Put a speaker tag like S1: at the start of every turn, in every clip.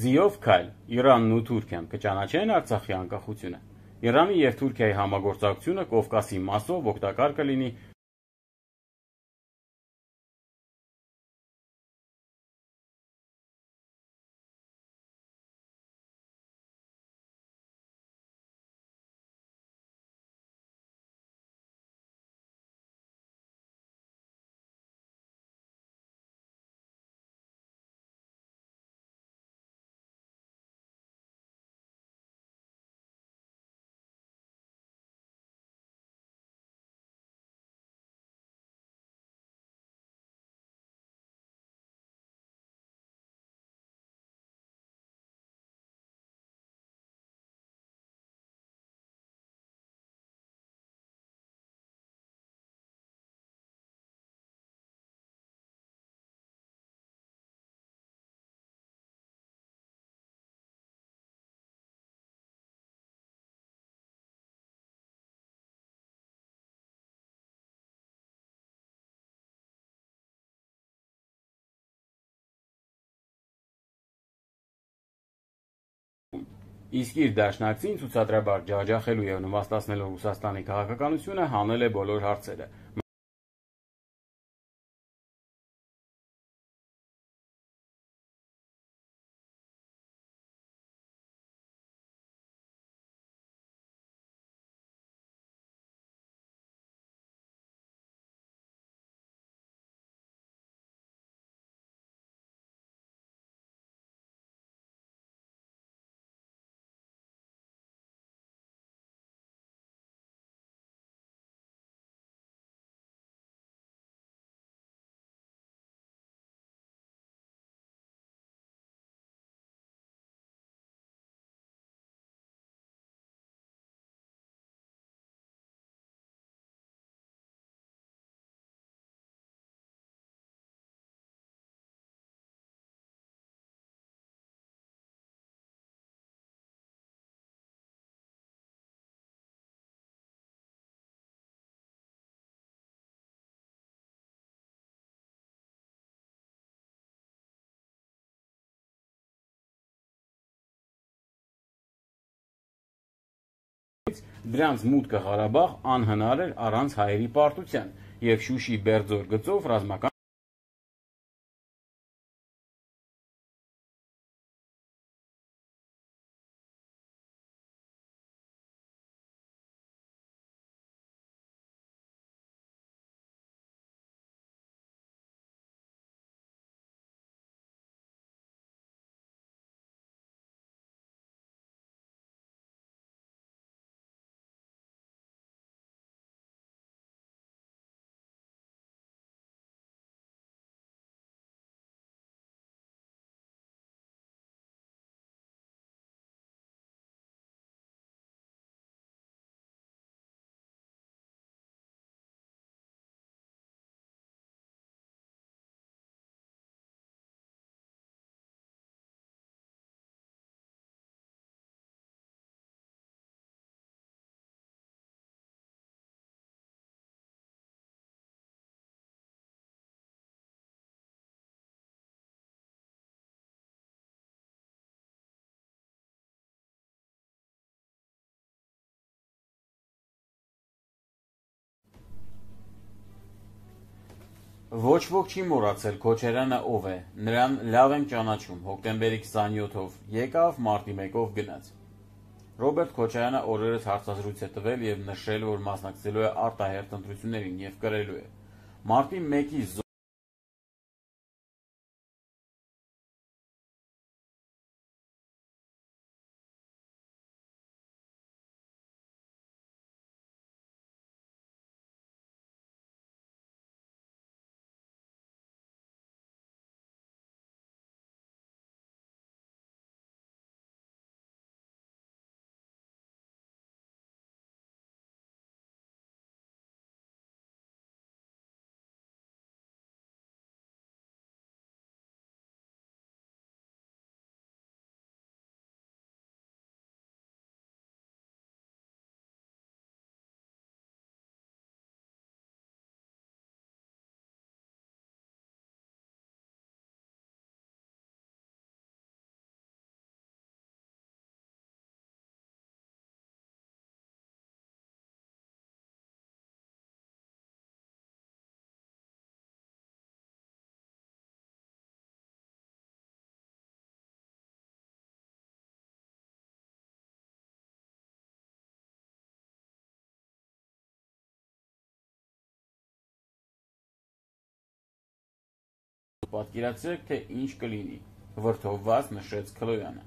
S1: Ձիով քայլ, Իրանն ու Թուրքիան կճանաչեն Արցախի անկախությունը։ Իրանի և Թուրքիայի համագործակցությունը Կովկասի մասով օգտակար կլինի իսկ իր դաշնակցին ցուցադրաբար ջախջախելու և նվաստացնելու Ռուսաստանի քաղաքականությունը հանել է բոլոր հարցերը։ Դրանց մուտքը Ղարաբաղ անհնար էր առանց հայերի պարտության, և Շուշի Բերձոր գծով ռազմական Ոչ ոք չի մոռացել Քոչարյանը ով է, նրան լավ եմ ճանաչում, հոկտեմբերի 27-ով եկավ, մարտի 1-ով գնաց։ Ռոբերտ Քոչարյանը օրերս հարցազրույց է տվել և նշել, որ մասնակցելու է արտահերթ ընտրություններին և կրելու է։ Մարտի 1-ի պատկերացրեք, թե ինչ կլինի, վրդովված նշեց Քլոյանը։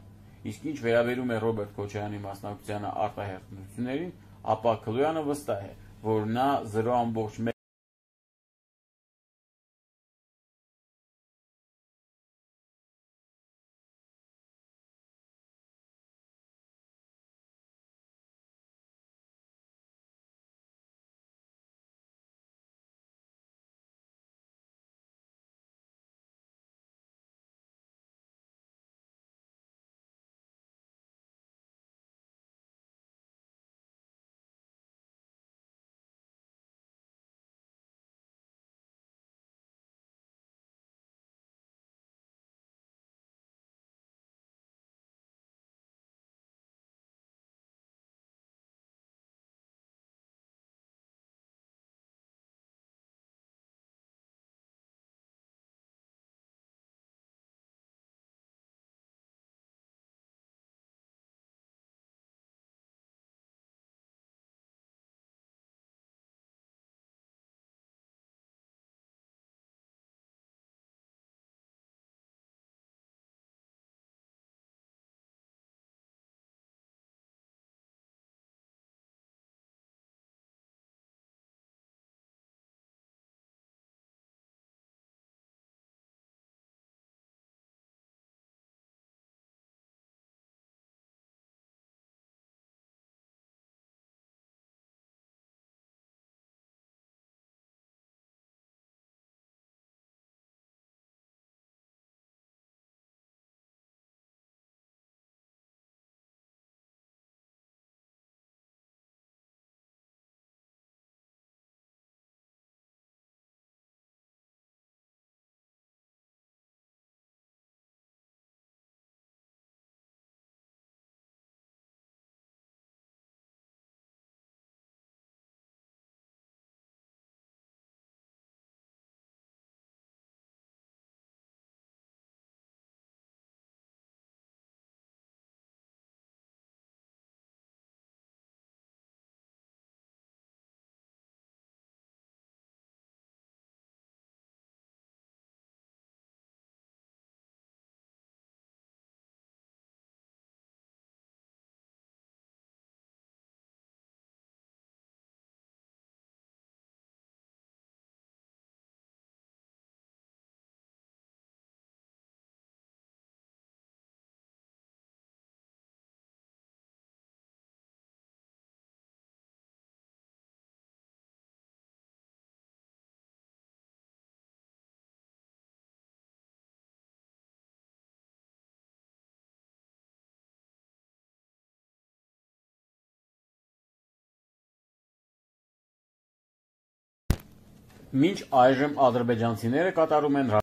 S1: Իսկ ինչ վերաբերում է Ռոբերտ Քոչարյանի մասնակցությանը արտահերթ ընտրություններին, ապա Քլոյանը վստահ է, որ նա 0,1Մինչ այժմ ադրբեջանցիները կատարում են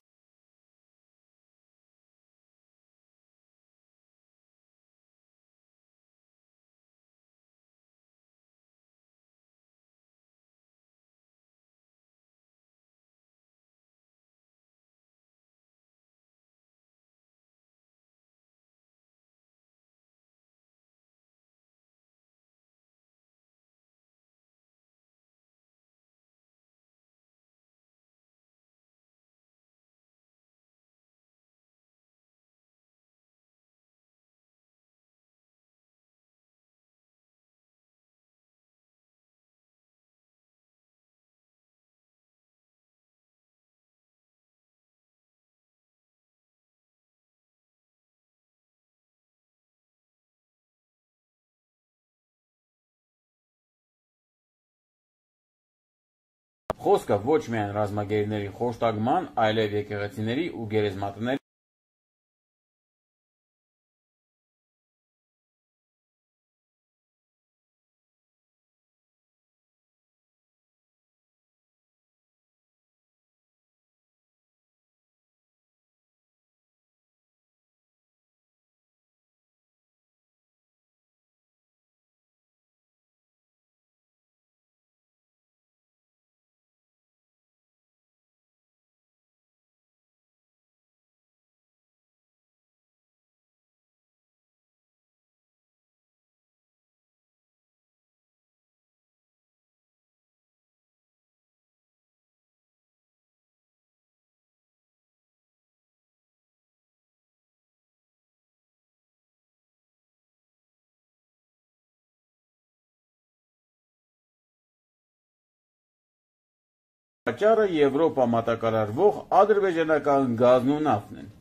S1: խոսքը ոչ միայն ռազմագերիների խոշտանգման, այլև եկեղեցիների ու գերեզմատների Պատճառը Եվրոպա մատակարարվող ադրբեջանական գազն ու նավթն են։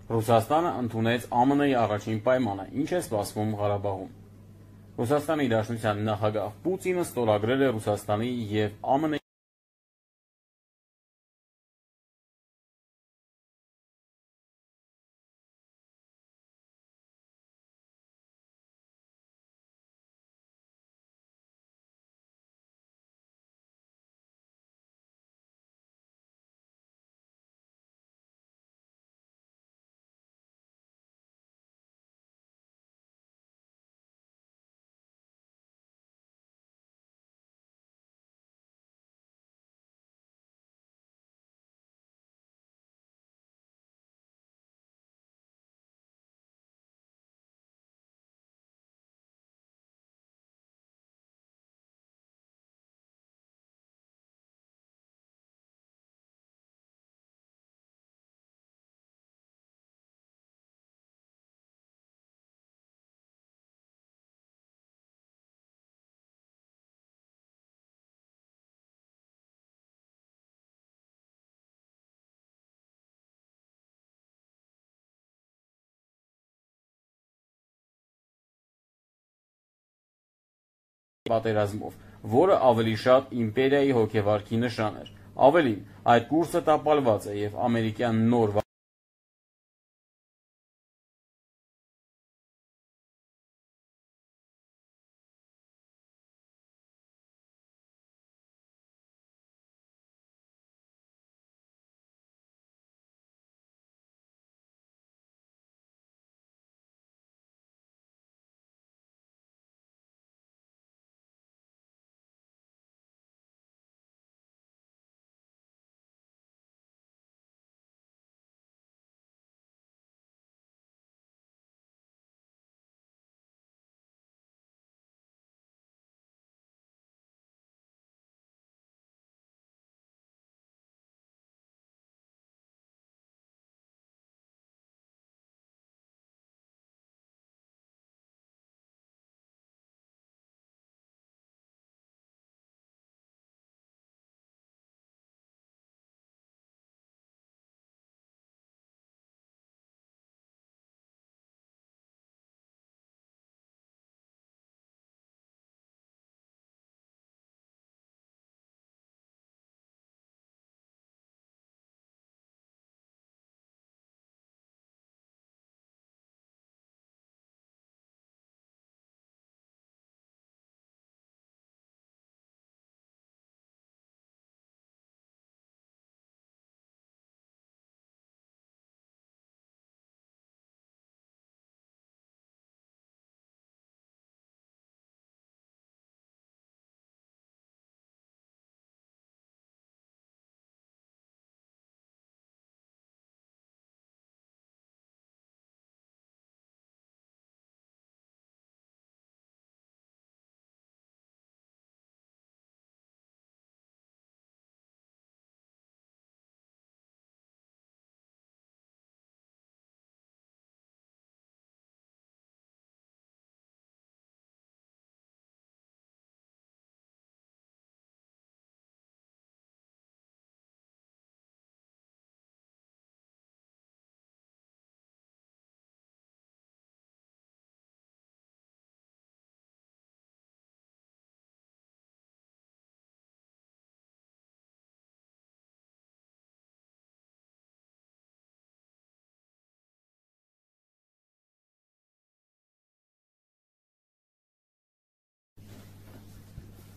S1: Ռուսաստանը ընդունեց ԱՄՆ-ի առաջին պայմանը, ինչ է սպասվում Ղարաբաղում։ Ռուսաստանի Դաշնության նախագահ Պուտինը ստորագրել է Ռուսաստանի և ԱՄՆ-ի պատերազմով, որը ավելի շատ իմպերիայի հոգեվարքի նշան էր։ Ավելին, այդ կուրսը տապալված է և ամերիկյան նոր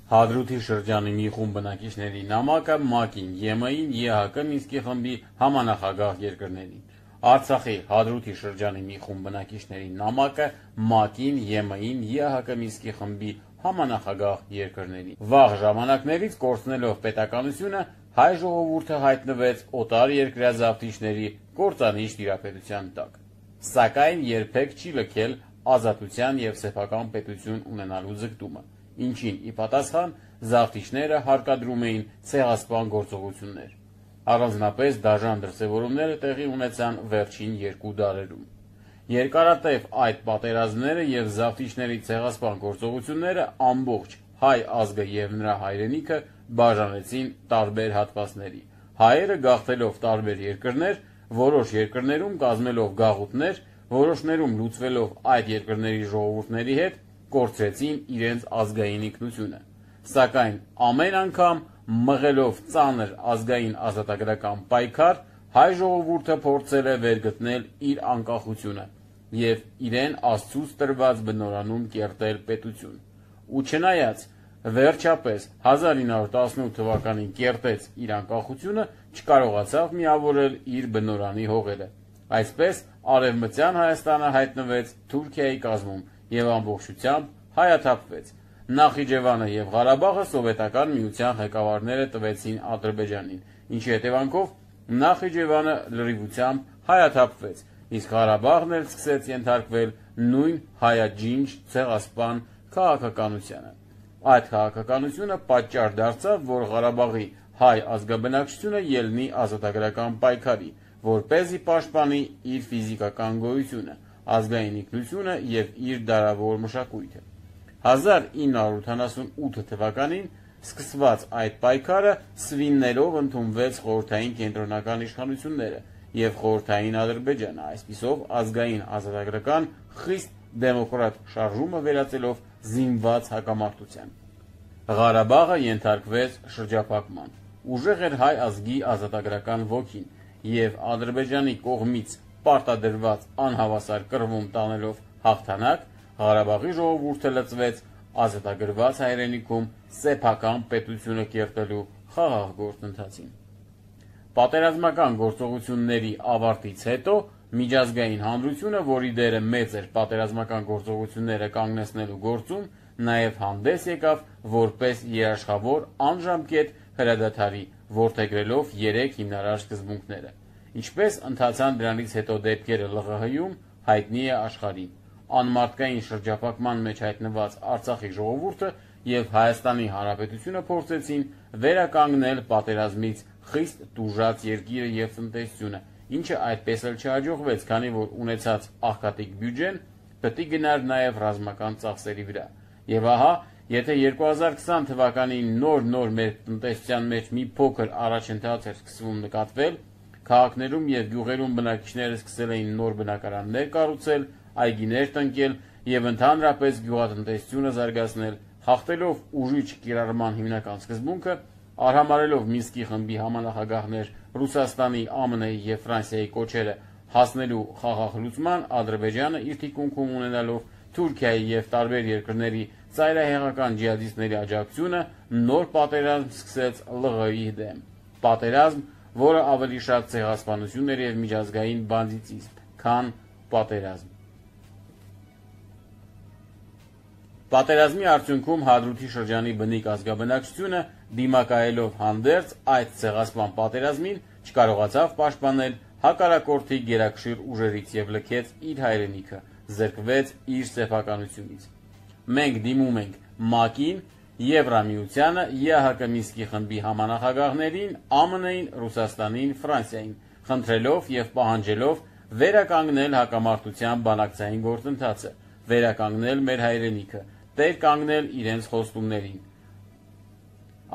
S1: Հադրութի շրջանի մի խումբ բնակիչների նամակը ՄԱԿ-ին, ԵՄ-ին, ԵՀԿ Մինսկի խմբի համանախագահ երկրներին։ Արցախի Հադրութի շրջանի մի խումբ բնակիչների նամակը ՄԱԿ-ին, ԵՄ-ին, ԵՀԿ Մինսկի խմբի համանախագահ երկրներին։ Վաղ ժամանակներից կորցնելով պետականությունը, հայ ժողովուրդը հայտնվեց օտար երկրյա զավթիչների կործանիչ տիրապետության տակ։ Սակայն երբեք չի լքել ազատության և սեփական պետություն ունենալու ձգտումը, ինչին ի պատասխան զավթիչները հարկադրում էին ցեղասպան գործողություններ։ Առանձնապես դաժան դրսևորումները տեղի ունեցան վերջին 2 դարերում։ Երկարատև այդ պատերազմները և զավթիչների ցեղասպան գործողությունները ամբողջ հայ ազգը և նրա հայրենիքը բաժանեցին տարբեր հատվածների։ Հայերը գաղթելով տարբեր երկրներ, որոշ երկրներում կազմելով գաղութներ, որոշներում լուծվելով այդ երկրների ժողովուրդների հետ, կորցրեցին իրենց ազգային ինքնությունը։ Սակայն ամեն անգամ մղելով ծանր ազգային ազատագրական պայքար, հայ ժողովուրդը փորձել է վերգտնել իր անկախությունը և իրեն Աստծուց տրված բնորանում կերտել պետություն։ Ու չնայած վերջապես 1918 թվականին կերտեց իր անկախությունը, չկարողացավ միավորել իր բնորանի հողերը։ Այսպես Արևմտյան Հայաստանը հայտնվեց Թուրքիայի կազմում և ամբողջությամբ հայաթափվեց։ Նախիջևանը և Ղարաբաղը սովետական միության ղեկավարները տվեցին Ադրբեջանին, ինչի հետևանքով Նախիջևանը լրիվությամբ հայաթափվեց, իսկ Ղարաբաղն էլ սկսեց ենթարկվել նույն հայաջինջ ցեղասպան քաղաքականությանը։ Այդ քաղաքականությունը պատճառ դարձավ, որ Ղարաբաղի հայ ազգաբնակչությունը ելնի ազատագրական պայքարի, որպեսզի պաշտպանի իր ֆիզիկական գոյությունը, ազգային ինքնությունը և իր դարավոր մշակույթը։ 1978 թվականին սկսված այդ պայքարը սվիններով ընդունվեց խորհրդային կենտրոնական իշխանությունները և խորհրդային Ադրբեջանը, այսպիսով ազգային ազատագրական խիստ դեմոկրատ շարժումը վերածելով զինված հակամարտության։ Ղարաբաղը ենթարկվեց շրջափակման։ Ուժեղ էր հայ ազգի ազատագրական ոգին, և Ադրբեջանի կողմից պարտադրված անհավասար կռվում տանելով հաղթանակ, Ղարաբաղի ժողովուրդը լծվեց ազատագրված հայրենիքում սեփական պետությունը կերտելու խաղաղ գործընթացին։ Պատերազմական գործողությունների ավարտից հետո միջազգային հանրությունը, որի դերը մեծ էր պատերազմական գործողությունները կանգնեցնելու գործում, նաև հանդես եկավ որպես երաշխավոր անժամկետ հրադադարի, որդեգրելով 3 հիմնարար սկզբունքները։ Ինչպես ընթացան դրանից հետո դեպքերը ԼՂՀ-ում, հայտնի է աշխարհին։ Անմարդկային շրջափակման մեջ հայտնված Արցախի ժողովուրդը և Հայաստանի Հանրապետությունը փորձեցին վերականգնել պատերազմից խիստ տուժած երկիրը և տնտեսությունը, ինչը այդպես էլ չհաջողվեց, քանի որ ունեցած աղքատիկ բյուջեն պետք է գնար նաև ռազմական ծախսերի վրա։ Եվ ահա, եթե 2020 թվականին նոր մեր տնտեսության մեջ մի փոքր առաջընթաց էր սկսվում նկատվել, քաղաքներում և գյուղերում բնակիչները սկսել էին նոր բնակարաններ կառուցել, այգիներ տնկել և ընդհանրապես գյուղատնտեսությունը զարգացնել, խախտելով ուժի չկիրառման հիմնական սկզբունքը, արհամարհելով Մինսկի խմբի համանախագահներ Ռուսաստանի, ԱՄՆ-ի և Ֆրանսիայի կոչերը հասնելու խաղաղ լուծման, Ադրբեջանը իր թիկունքում ունենալով Թուրքիայի և տարբեր երկրների ծայրահեղական ջիհադիստների աջակցությունը, նոր պատերազմ սկսեց ԼՂՀ-ի դեմ։ Պատերազմ, որը ավելի շատ ցեղասպանություն էր և միջազգային բանդիտիզմ, քան պատերազմ։ Պատերազմի արդյունքում Հադրութի շրջանի բնիկ ազգաբնակչությունը, դիմակայելով հանդերձ այդ ցեղասպան պատերազմին, չկարողացավ պաշտպանել հակառակորդի գերակշիռ ուժերից և լքեց իր հայրենիքը, զրկվեց իր սեփականությունից։ Մենք դիմում ենք ՄԱԿ-ին, Եվրամիությանը, ԵՀԿ Մինսկի խմբի համանախագահներին, ԱՄՆ-ին, Ռուսաստանին, Ֆրանսիային, խնդրելով և պահանջելով վերականգնել հակամարտության բանակցային գործընթացը, վերականգնել մեր հայրենիքը, տեր կանգնել իրենց խոստումներին։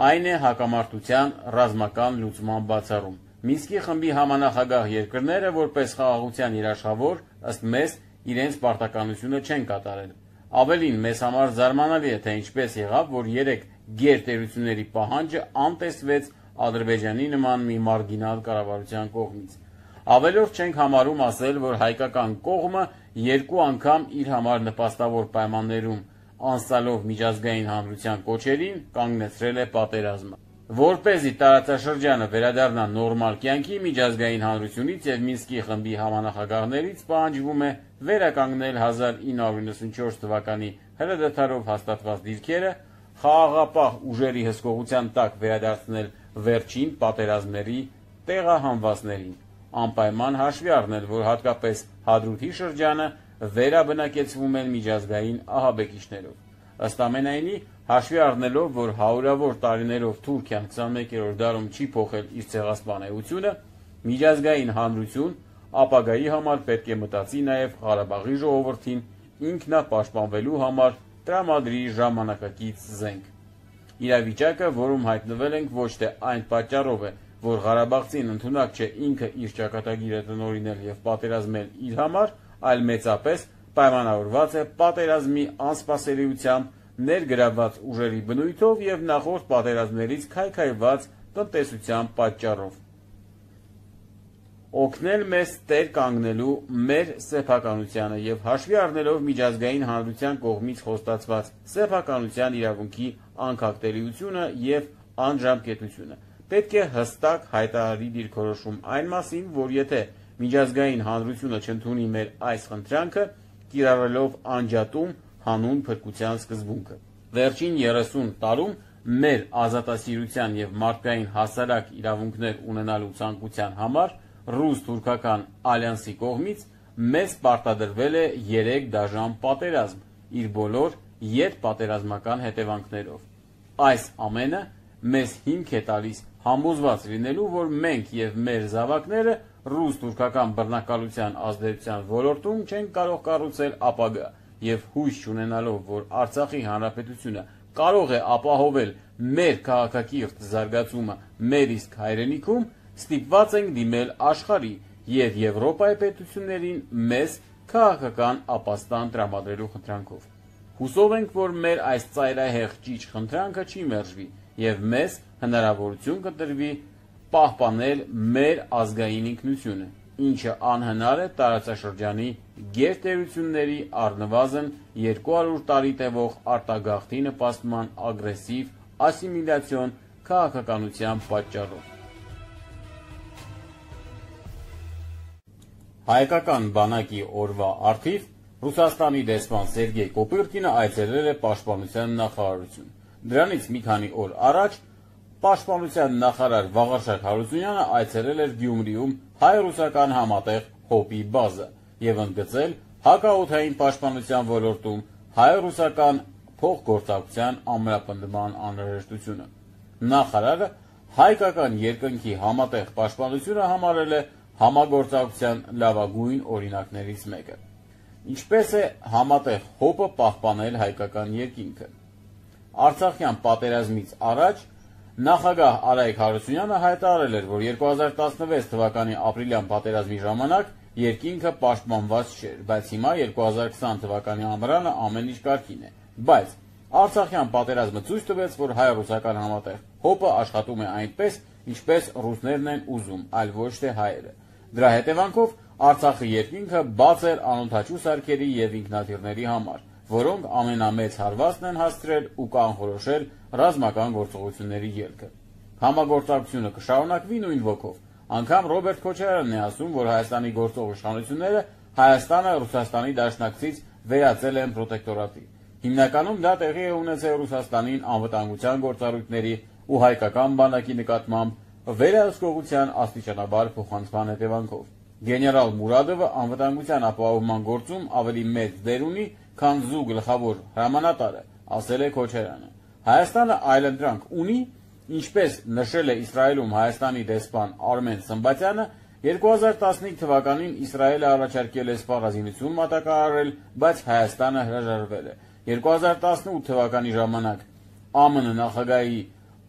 S1: Այն է հակամարտության ռազմական լուծման բացառում։ Մինսկի խմբի համանախագահ երկրները, որպես խաղաղության երաշխավոր, ըստ մեզ, իրենց պարտականությունը չեն կատարել։ Ավելին, մեզ համար զարմանալի է, թե ինչպես եղավ, որ 3 գերտերությունների պահանջը անտեսվեց Ադրբեջանի նման մի մարգինալ կառավարության կողմից։ Ավելորդ չենք համարում ասել, որ հայկական կողմը 2 անգամ իր համար նպաստավոր պայմաններում անցալով միջազգային հանրության կոչերին, կանգնեցրել է պատերազմը։ Որպեսզի տարածաշրջանը վերադառնա նորմալ կյանքի, միջազգային հանրությունից և Մինսկի խմբի համանախագահներից պահանջվում է վերականգնել 1994 թվականի հրադադարով հաստատված դիրքերը, խաղաղապահ ուժերի հսկողության տակ վերադարձնել վերջին պատերազմների տեղահանվածներին, անպայման հաշվի առնել, որ հատկապես Հադրութի շրջանը վերաբնակեցվում են միջազգային ահաբեկիչներով։ Ըստ ամենայնի, հաշվի առնելով, որ հարյուրավոր տարիներով Թուրքիան 21-րդ դարում չի փոխել իր ցեղասպան էությունը, միջազգային հանրություն ապագայի համար պետք է մտածի նաև Ղարաբաղի ժողովրդին ինքնապաշտպանվելու համար տրամադրի ժամանակակից զենք։ Իրավիճակը, որում հայտնվել ենք, ոչ թե այն պատճառով է, որ Ղարաբաղցին ընդունակ չէ ինքը իր ճակատագիրը տնօրինել և պատերազմել իր համար, այլ մեծապես պայմանավորված է պատերազմի անսպասելիությամբ, ներգրավված ուժերի բնույթով և նախորդ պատերազմներից քայքայված տնտեսության պատճառով։ Օգնել մեզ տեր կանգնելու մեր սեփականությանը և հաշվի առնելով միջազգային հանրության կողմից խոստացված սեփականության իրավունքի անկախտելիությունը և անժամկետությունը, պետք է հստակ հայտարարի դիրքորոշում այն մասին, որ եթե միջազգային հանրությունը չընդունի մեր այս խնդրանքը, կիրառելով անջատում հանուն փրկության սկզբունքը։ Վերջին 30 տարում մեր ազատասիրության և մարդկային հասարակ իրավունքներ ունենալու ցանկության համար ռուս-թուրքական ալյանսի կողմից մեզ պարտադրվել է 3 դաժան պատերազմ, իր բոլոր ետպատերազմական հետևանքներով։ Այս ամենը մեզ հիմք է տալիս համոզված լինելու, որ մենք և մեր զավակները ռուս-թուրքական բռնակալության ազդեցության ոլորտում չեն կարող կառուցել ապագա և հույս չունենալով, որ Արցախի հանրապետությունը կարող է ապահովել մեր քաղաքակիրթ զարգացումը մեր իսկ հայրենիքում, ստիպված ենք դիմել աշխարհի և Եվրոպայի պետություններին մեզ քաղաքական ապաստան տրամադրելու խնդրանքով։ Հուսով ենք, որ մեր այս ծայրահեղ ճիչ խնդրանքը չի մերժվի և մեզ հնարավորություն կտրվի պահպանել մեր ազգային ինքնությունը, ինչը անհնար է տարածաշրջանի գերտերությունների առնվազն 200 տարի տևող արտագաղթի նպաստման ագրեսիվ ասիմիլյացիոն քաղաքականության պատճառով։ Հայկական բանակի օրվա առթիվ Ռուսաստանի դեսպան Սերգեյ Կոպիրկինը այցելել է Պաշտպանության նախարարություն։ Դրանից մի քանի օր առաջ Պաշտպանության նախարար Վաղարշակ Հարությունյանը այցելել էր Գյումրիում հայ-ռուսական համատեղ ՀՕՊ-ի բազա և ընդգծել հակաօդային պաշտպանության ոլորտում հայ-ռուսական փոխգործակցության ամրապնդման անհրաժեշտությունը։ Նախարարը հայկական երկնքի համատեղ պաշտպանությունը համարել է համագործակցության լավագույն օրինակներից մեկը։ Ինչպես է համատեղ ՀՕՊ-ը պահպանել հայկական երկինքը։ Արցախյան պատերազմից առաջ նախագահ Արայք Հարությունյանը հայտարարել էր, որ 2016 թվականի ապրիլյան պատերազմի ժամանակ երկինքը պաշտպանված չէր, բայց հիմա 2020 թվականի ամռանը ամեն ինչ կարգին է։ Բայց Արցախյան պատերազմը ցույց տվեց, որ հայ-ռուսական համատեղ ՀՕՊ-ը աշխատում է այնպես, ինչպես ռուսներն են ուզում, այլ ոչ թե հայերը։ Դրա հետևանքով Արցախի երկինքը բաց էր անօդաչու սարքերի և ինքնաթիռների համար, որոնք ամենամեծ հարվածն են հասցրել ու կանխորոշել ռազմական գործողությունների ելքը։ Համագործակցությունը կշարունակվի նույն ոգով։ Անգամ Ռոբերտ Քոչարյանն է ասում, որ Հայաստանի գործող իշխանությունները Հայաստանը Ռուսաստանի դաշնակցից վերածել են պրոտեկտորատի։ Հիմնականում դա տեղի է ունեցել Ռուսաստանին անվտանգության գործառույթների ու հայկական բանակի նկատմամբ վերահսկողության աստիճանաբար փոխանցման հետևանքով։ Գեներալ Մուրադովը անվտանգության ապահովման գործում ավելի մեծ դեր ունի, քան ԶՈՒ գլխավոր հրամանատարը, ասել է Քոչարյանը։ Հայաստանը այլընտրանք ունի, ինչպես նշել է Իսրայելում Հայաստանի դեսպան Արմեն Սմբատյանը, 2015 թվականին Իսրայելը առաջարկել է սպառազինություն մատակարարել, բայց Հայաստանը հրաժարվել է։ 2018 թվականի ժամանակ ԱՄՆ նախագահի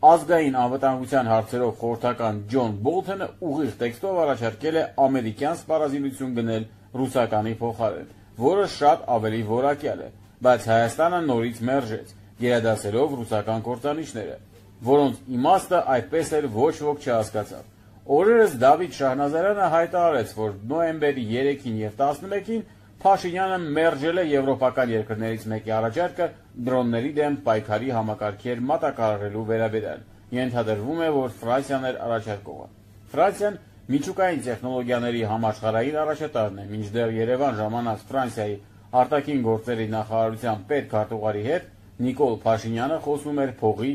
S1: ազգային անվտանգության հարցերով խորհրդական Ջոն Բոլթոնը ուղիղ տեքստով առաջարկել է ամերիկյան սպառազինություն գնել ռուսականի փոխարեն, որը շատ ավելի որակյալ է, բայց Հայաստանը նորից մերժեց, գերադասելով ռուսական կործանիչները, որոնց իմաստը այդպես էլ ոչ ոք չհասկացավ։ Օրերս Դավիթ Շահնազարյանը հայտարարեց, որ նոյեմբերի 3-ին և 11-ին Փաշինյանը մերժել է եվրոպական երկրներից մեկի առաջարկը դրոնների դեմ պայքարի համակարգեր մատակարարելու վերաբերյալ։ Ենթադրվում է, որ Ֆրանսիան էր առաջարկողը։ Ֆրանսիան միջուկային տեխնոլոգիաների համաշխարհային առաջատարն է, մինչդեռ Երևան ժամանած Ֆրանսիայի արտաքին գործերի նախարարության պետքարտուղարի հետ Նիկոլ Փաշինյանը խոսում էր փողի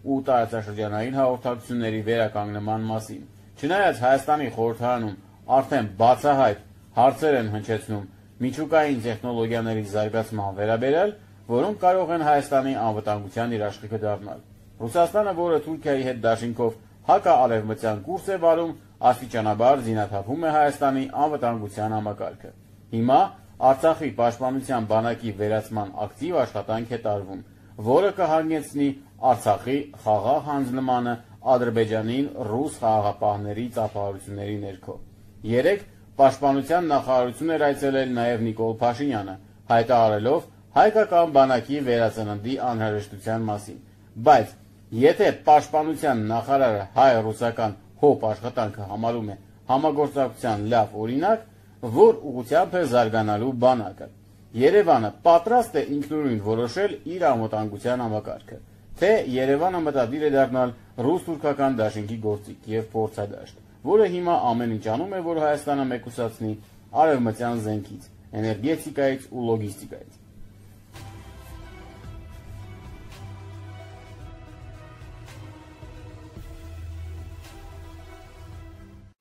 S1: ու տարածաշրջանային հաղորդակցությունների վերականգնման մասին։ Չնայած Հայաստանի խորհրդարանում արդեն բացահայտ հարցեր են հնչեցնում միջուկային տեխնոլոգիաների զարգացման վերաբերյալ, որոնք կարող են Հայաստանի անվտանգության երաշխիքը դառնալ։ Ռուսաստանը, որը Թուրքիայի հետ դաշինքով հակաարևմտյան կուրս է վարում, աստիճանաբար զինաթափում է Հայաստանի անվտանգության համակարգը։ Հիմա Արցախի պաշտպանության բանակի վերացման ակտիվ աշխատանք է տարվում, որը կհանգեցնի Արցախի խաղաղ հանձնմանը Ադրբեջանին ռուս խաղաղապահների ծափահարությունների ներքո։ Երեկ պաշտպանության նախարարություն էր այցելել նաև Նիկոլ Փաշինյանը, հայտարարելով հայկական բանակի վերածննդի անհրաժեշտության մասին։ Բայց եթե պաշտպանության նախարարը հայ-ռուսական հոբ աշխատանքը համարում է համագործակցության լավ օրինակ, որ ուղղությամբ է զարգանալու բանակը, Երևանը պատրաստ է ինքնուրույն որոշել իր անվտանգության համակարգը, թե Երևանը մտադիր է դառնալ ռուս-թուրքական դաշինքի գործիք եւ փորձադաշտ, որը հիմա ամեն ինչ անում է, որ Հայաստանը մեկուսացնի արևմտյան զենքից, էներգետիկայից ու լոգիստիկայից։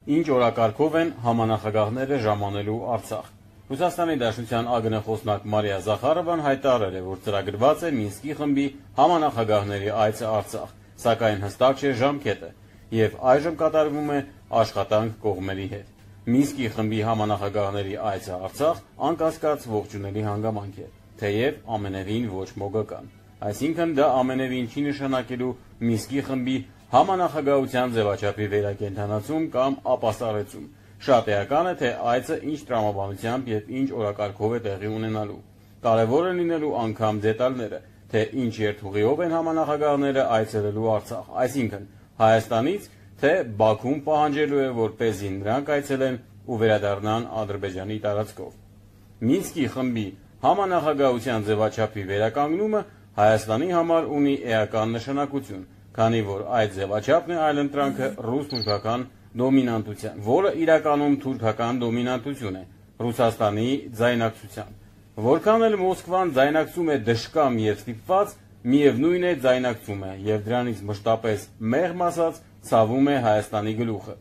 S1: Ինչ օրակարգով են համանախագահները ժամանելու Արցախ։ Ռուսաստանի Դաշնության ԱԳՆ խոսնակ Մարիա Զախարովան հայտարարել է, որ ծրագրված է Մինսկի խմբի համանախագահների այցը Արցախ, սակայն հստակ չէ ժամկետը, եւ այժմ կատարվում է աշխատանք կողմերի հետ։ Մինսկի խմբի համանախագահների այցը Արցախ անկասկած ողջունելի հանգամանք է, թեև ամենևին ոչ մոգական։ Այսինքն դա ամենևին չի նշանակելու Մինսկի խմբի համանախագահության ձևաչափի վերակենդանացում կամ ապաստարեցում։ Շատ էական է, թե այցը ինչ տրամաբանությամբ եւ ինչ օրակարգով է տեղի ունենալու։ Կարևոր է լինելու անգամ դետալները, թե ինչ երթուղիով են համանախագահները այցելելու Արցախ, այսինքն Հայաստանից, թե Բաքուն պահանջելու է, որպեսզի նրանք այցելեն ու վերադառնան Ադրբեջանի տարածքով։ Մինսկի խմբի համանախագահության ձևաչափի վերականգնումը Հայաստանի համար ունի էական նշանակություն, քանի որ այդ ձևաչափն է այլընտրանքը ռուս-թուրքական դոմինանտության, որը իրականում թուրքական դոմինանտություն է Ռուսաստանի ձայնակցության։ Որքան էլ Մոսկվան ձայնակցում է դժկամ եւ ստիպված, միևնույն է ձայնակցում է եւ դրանից մշտապես մեղմ ասած ցավում է Հայաստանի գլուխը։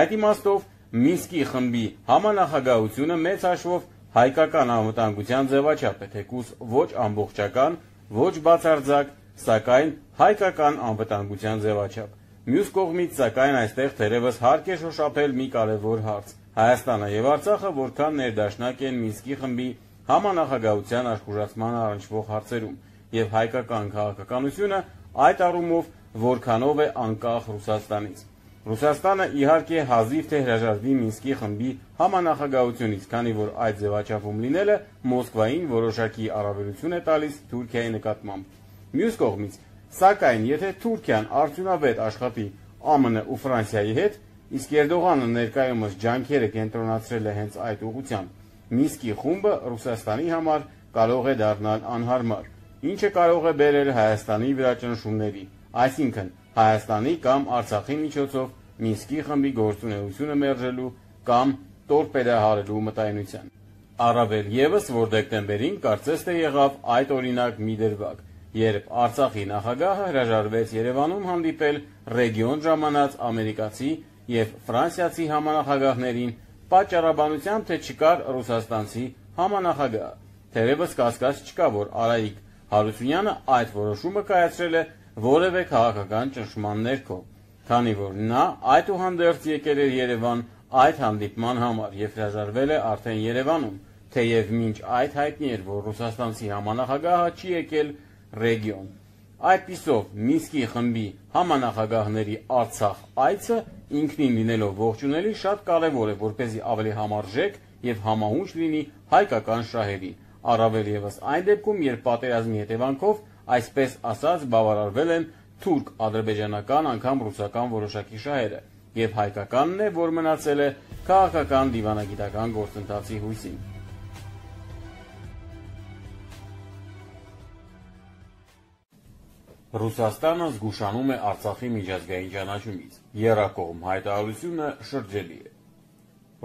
S1: Այդ իմաստով Մինսկի խմբի համանախագահությունը մեծ հաշվով հայկական անվտանգության ձևաչափ է, թեկուզ ոչ ամբողջական, ոչ բացարձակ, սակայն հայկական անվտանգության ձևաչափ։ Մյուս կողմից, սակայն, այստեղ թերևս հարկ է շոշափել մի կարևոր հարց. Հայաստանը եւ Արցախը որքան ներդաշնակ են Մինսկի խմբի համանախագահության աշխուժացման առնչվող հարցերում, եւ հայկական քաղաքականությունը այդ առումով որքանով է անկախ Ռուսաստանից։ Ռուսաստանը իհարկե հազիվ թե հրաժարվի Մինսկի խմբի համանախագահությունից, քանի որ այդ ձևաչափում լինելը Մոսկվային որոշակի առավելություն է տալիս Թուրքիայի նկատմամբ։ Մյուս կողմից, սակայն, եթե Թուրքիան արդյունավետ աշխատի ԱՄՆ ու Ֆրանսիայի հետ, իսկ Էրդողանը ներկայումս ջանքերը կենտրոնացրել է հենց այդ ուղղությամբ, Մինսկի խումբը Ռուսաստանի համար կարող է դառնալ անհարմար, ինչը կարող է բերել Հայաստանի վրա ճնշումների, այսինքն Հայաստանի կամ Արցախի միջոցով Մինսկի խմբի գործունեությունը մերժելու կամ տորպեդահարելու մտայնության։ Առավել եւս, որ դեկտեմբերին կարծես թե եղավ այդ օրինակ մի դրվագ, երբ Արցախի նախագահը հրաժարվեց Երևանում հանդիպել ռեգիոն ժամանած ամերիկացի եւ ֆրանսիացի համանախագահներին, պատճառաբանությամբ, թե չկար ռուսաստանցի համանախագահ։ Թերևս կասկած չկա, որ Արայիկ Հարությունյանը այդ որոշումը կայացրել է որևէ քաղաքական ճնշման ներքո, քանի որ նա այդուհանդերձ եկել էր Երևան այդ հանդիպման համար եւ հրաժարվել է արդեն Երևանում, թեև մինչ այդ հայտնի էր, որ ռուսաստանցի համանախագահը չի եկել ռեգիոն։ Այդպիսով Մինսկի խմբի համանախագահների Արցախ այցը ինքնին լինելով ողջունելի շատ կարևոր է, որպեսզի ավելի համարժեք եւ համահունչ լինի հայկական շահերին, առավել եւս այն դեպքում, երբ պատերազմի հետևանքով այսպես ասած բավարարվել են թուրք-ադրբեջանական, անգամ ռուսական որոշակի շահերը, եւ հայկականն է, որ մնացել է քաղաքական դիվանագիտական գործընթացի հույսին։ Ռուսաստանը զգուշանում է Արցախի միջազգային ճանաչումից։ Եռակողմ հայտարարությունը շրջելի է։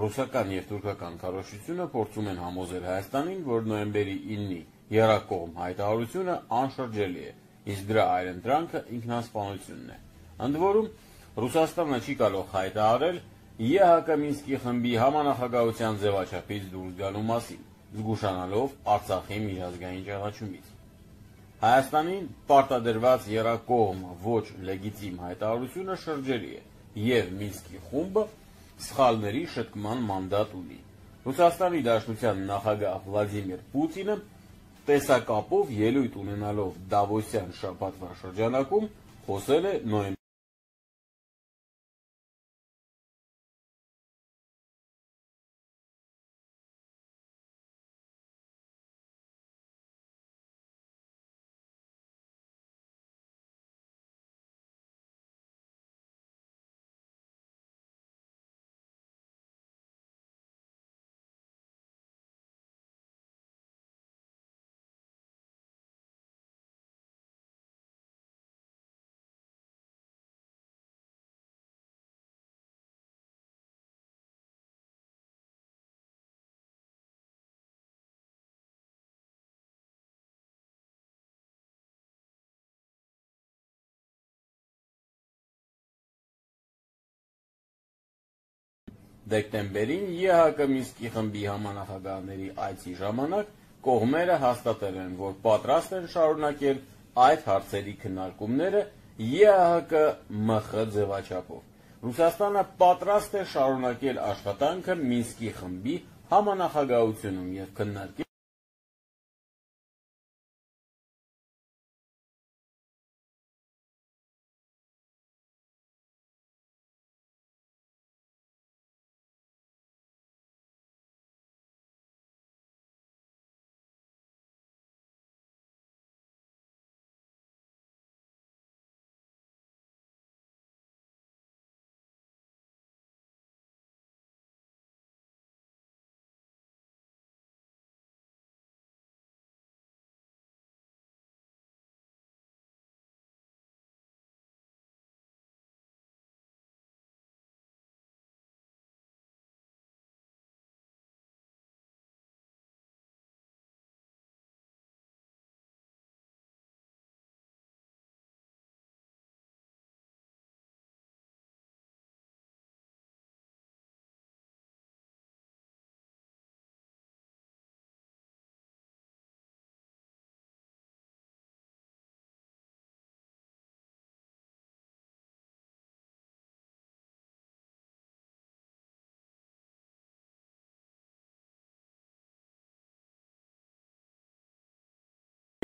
S1: Ռուսական և թուրքական քարոզչությունը փորձում են համոզել Հայաստանին, որ նոյեմբերի 9-ի եռակողմ հայտարարությունը անշրջելի է, իսկ դրա այլընտրանքը ինքնասպանությունն է։ Ընդ որում, Ռուսաստանը չի կարող հայտարարել ԵՀԿ Մինսկի խմբի համանախագահության ձևաչափից դուրս գալու մասին, զգուշանալով Արցախի միջազգային ճանաչումից։ Հայաստանին պարտադրված եռակողմ ոչ լեգիտիմ հայտարարությունը շրջելի է, և Մինսկի խումբը սխալների շտկման մանդատ ունի։ Ռուսաստանի Դաշնության նախագահ Վլադիմիր Պուտինը տեսակապով ելույթ ունենալով Դավոսյան շաբաթվա շրջանակում խոսել է նոյեմբերի դեկտեմբերին ԵՀԿ Մինսկի խմբի համանախագահների այցի ժամանակ կողմերը հաստատել են, որ պատրաստ են շարունակել այդ հարցերի քննարկումները ԵՀԿ-ՄԽ ձևաչափով։ Ռուսաստանը պատրաստ է շարունակել աշխատանքը Մինսկի խմբի համանախագահությունում և քննարկել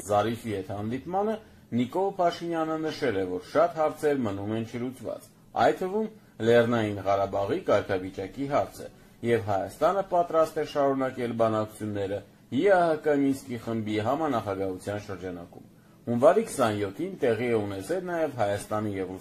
S1: Զարիֆի հետ հանդիպմանը Նիկոլ Փաշինյանը նշել է, որ շատ հարցեր մնում են չլուծված, այդ թվում Լեռնային Ղարաբաղի կարգավիճակի հարցը, և Հայաստանը պատրաստ է շարունակել բանակցությունները ԵՀԿ Մինսկի խմբի համանախագահության շրջանակում։ Հունվարի 27-ին տեղի է ունեցել նաև Հայաստանի և